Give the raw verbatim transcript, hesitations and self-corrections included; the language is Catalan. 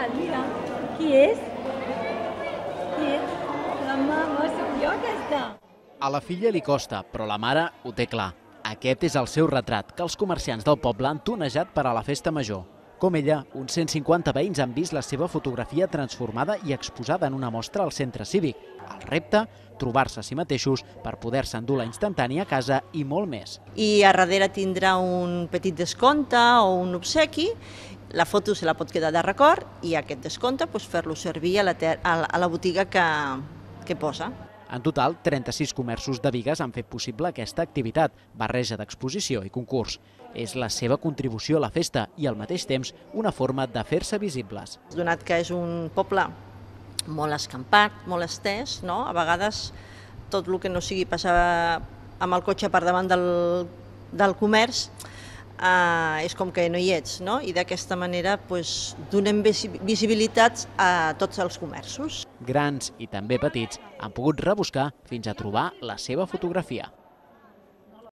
Hola, mira, qui és? Qui és? La mama, soc jo aquesta. A la filla li costa, però la mare ho té clar. Aquest és el seu retrat, que els comerciants del poble han tonejat per a la festa major. Com ella, uns cent cinquanta veïns han vist la seva fotografia transformada i exposada en una mostra al centre cívic. El repte, trobar-se a si mateixos per poder-se endur la instantània a casa i molt més. I a darrere tindrà un petit descompte o un obsequi, la foto se la pot quedar de record i aquest descompte doncs, fer-lo servir a la, a la botiga que, que posa. En total, trenta-sis comerços de Bigues han fet possible aquesta activitat, barreja d'exposició i concurs. És la seva contribució a la festa i, al mateix temps, una forma de fer-se visibles. Donat que és un poble molt escampat, molt estès, no? A vegades tot el que no sigui passar amb el cotxe per davant del, del comerç eh, és com que no hi ets, no? I d'aquesta manera doncs, donem visibilitat a tots els comerços. Grans i també petits han pogut rebuscar fins a trobar la seva fotografia.